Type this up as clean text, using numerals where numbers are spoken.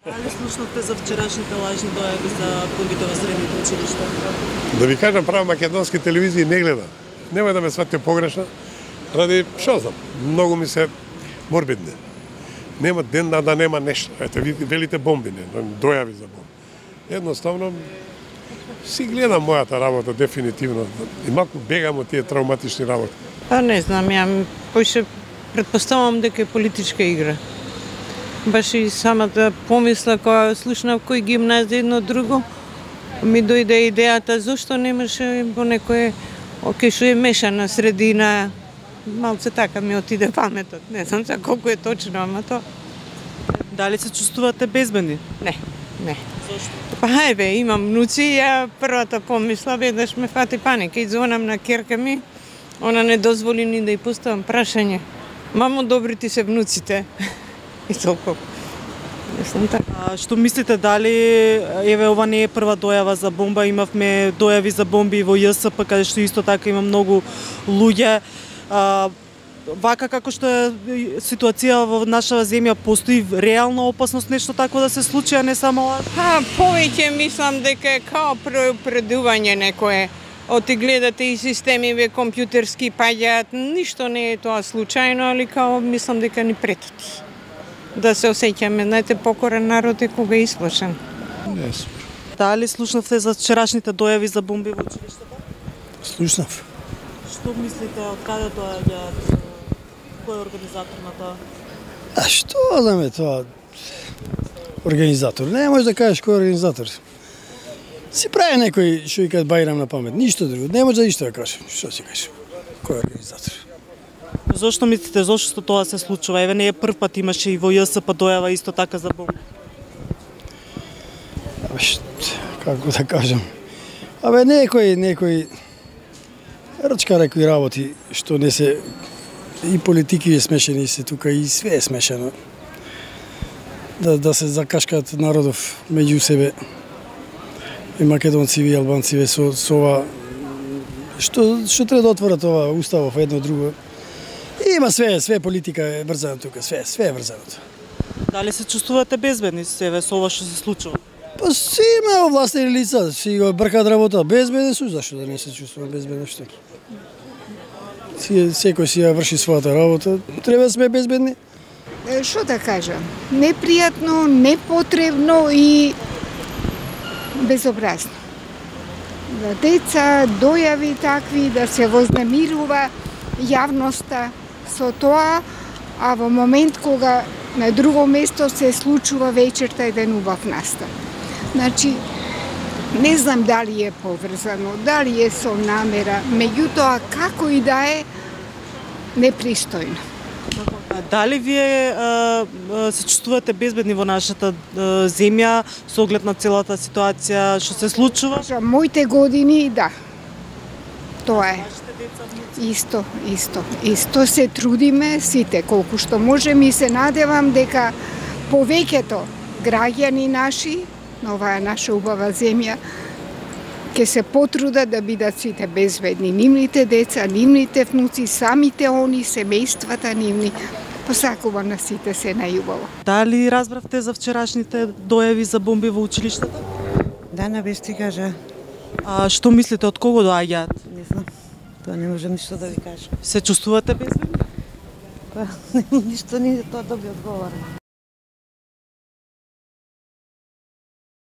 Дали слушнавте за вчерашните лажни дојави за бомбите во средните училишта? Да ви кажам, право македонски телевизии не гледам. Нема да ме сватите погрешно, ради, шо знам, многу ми се морбидни. Нема ден да нема нешто. Ете, велите бомби, не, дојави за бомби. Едноставно, си гледам мојата работа, дефинитивно. И малку бегам од тие травматични работи. Па не знам, ја поише предпоставам дека е политичка игра. Баш и самата помисла која слушнав кој гимназија едно друго, ми дојде идејата зошто немаше по некое оке што е мешана средина. Малце така ми отиде паметот. Не знам за колку е точно, ама то. Дали се чувствувате безбедни? Не. Зошто? Па еве, имам внуци, ја првата помисла веднаш ме фати паника и звонам на ќерка ми. Она не дозволи ни да ја поставам прашање. Мамо, добри ти се внуците. И толку. Мислам така. Што мислите, дали еве ова не е прва дојава за бомба, имавме дојави за бомби во ЈСП, каде што исто така има многу луѓе. Вака како што е ситуација во нашава земја, постои реална опасност нешто такво да се случи, а не само Повеќе мислам дека е као предување некое. Оти гледате и системиве компјутерски паѓаат, ништо не е тоа случајно, али као мислам дека ни претат. Да се осеќаме, знаете, покорен народ е кога е исплашен. Не, супер. Дали слушнавте за вчерашните дојави за бомби во училиштата? Слушнав. Што мислите, од каде доаѓаат? Кој е организатор на тоа? А што знаме тоа? Организатор. Не можеш да кажеш кој е организатор. Си прави некој што викаат Бајрам на памет. Ништо друго. Не може да ништо да кажеш. Што си кажеш? Кој е организатор? Зошто мислите, зошто тоа се случува? Еве не е прв пат, имаше и во ЈСП дојава исто така за бомби. Како да кажам? Некој рачка некои работи што не се и политики е смешени се тука и све е смешано. Да се закашкаат народов меѓу себе. И македонци и албанци со ова што треба да отворат ова уставов едно друго. Има све политика е врзана тука, све е врзано. Дали се чувствувате безбедни себе со ова што се случува? Па си има овластени лица, си го бркаат работа. Безбедни су, зашто да не се чувствувам безбедно што? Секој си ја врши својата работа, треба да сме безбедни. Што да кажам? Непријатно, непотребно и безобразно. Да деца, дојави такви, да се вознемирува јавноста со тоа, а во момент кога на друго место се случува вечерта еден убав настан. Значи, не знам дали е поврзано, дали е со намера, меѓутоа како и да е непристојно. Дали вие се чувствувате безбедни во нашата земја со оглед на целата ситуација што се случува? Моите години, да. Тоа е. Исто се трудиме сите колку што можеме и се надевам дека повеќето граѓани наши на оваа наша убава земја ќе се потрудат да бидат сите безбедни. Нивните деца, нивните внуци, самите они, семејствата нивни. Посакувам на сите се најубаво. Дали разбравте за вчерашните дојави за бомби во училиштата? Да, на без ти кажа. Што мислите, од кого доаѓаат? Не знам. Тоа не можам ништо да ви кажам. Се чувствувате безбедни? Па, ништо не е тоа да би одговорам.